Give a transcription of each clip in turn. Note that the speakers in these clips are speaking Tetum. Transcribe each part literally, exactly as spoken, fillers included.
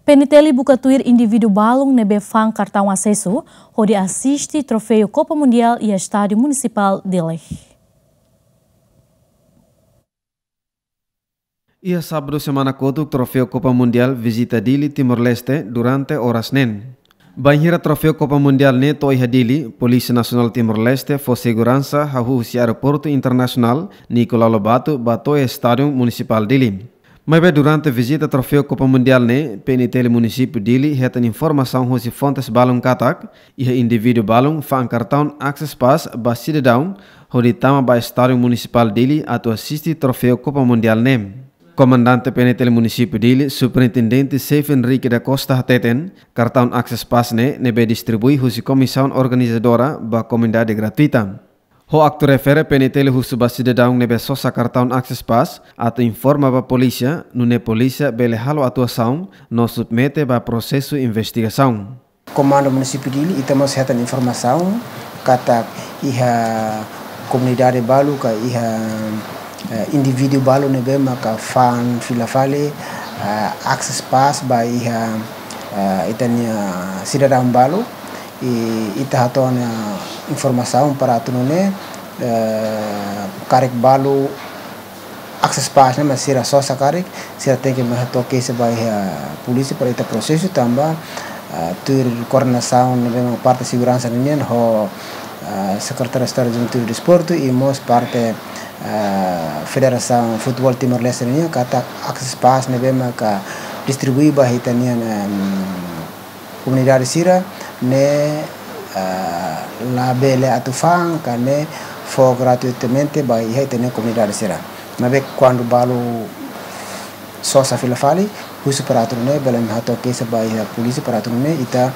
PNTL buka tuir indivíduu balun ne'ebé fa'an kartaun asesu hodi asiste Troféu Copa Mundial iha Estádiu Munisipál Dili. Iha sábadu semana kotuk, Troféu Copa Mundial vizita Dili, Timor-Leste, durante oras neen. Bainhira Troféu Copa Mundial ne'e to'o iha Dili, Polísia Nasionál Timor-Leste fó seguransa hahú husi Aeroportu Internasionál Nicolau Lobato ba to'o iha Estádiu Munisipál Dili. Maibé durante vizita Troféu Copa Mundial ne'e, PNTL Munisípiu Dili hetan informasaun husi fontes balun katak iha indivíduu balun fa'an kartaun Access Pass ba sidadaun hodi tama ba Estádiu Munisipál Dili atu asiste Troféu Copa Mundial ne'e. Komandante PNTL Munisípiu Dili, Superintendente Seif Henrique da Costa hateten, kartaun Access Pass ne'e ne'ebé distribui husi komisaun organizadora ba komunidade gratuita. Ho aktu refere, PNTL husu ba sidadaun ne'ebé sosa kartaun Access Pass atu informa ba polísia, nune'e polísia bele halo atuasaun no submete ba prosesu investigasaun. Komandu Munisípiu Dili, ita mós hetan informasaun katak iha komunidade balu ka iha, eh, indivíduu balu ne'ebé maka fa'an fila fali, eh, Access Pass ba iha, eh, ita-nia sidadaun balu. I ita hato'o ona informasaun para atu nune'e, eh, karik balu Access Pass ne'e mak sira sosa karik, sira tenke mai hato'o keixa ba iha polísia para ita prosesu tanba, ah, tuir koordenasaun ne'ebé mak parte seguransa ninian ho, ah, Sekretáriu Estadu Juventude i Desportu i mós parte, ah, Federasaun Futeból Timor-Leste ninian katak Access Pass ne'ebé maka distribui ba ita-nian, em, komunidade sira ne'e, ah, labele atu fa'an ka ne'e fó gratuitamente ba iha ita-nia komunidade sira. Maibé kuandu balu sosa fila fali, husu para atu nune'e bele mai hato'o keixa ba iha polísia para atu nune'e ita,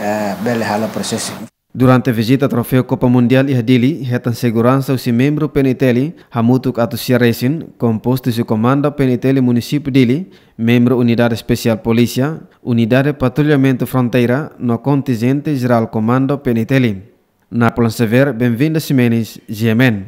eh, bele halo prosesu. Durante vizita Troféu Copa Mundial iha Dili, hetan seguransa husi membru PNTL, hamutuk atus sia resin, kompostu husi Komandu PNTL Munisípiu Dili, membru Unidade Espesiál Polísia, Unidade Patrullamentu Fronteira, no kontinjente jerál Komandu PNTL. Napoleon Xavier, Benvinda Ximenes, GMN.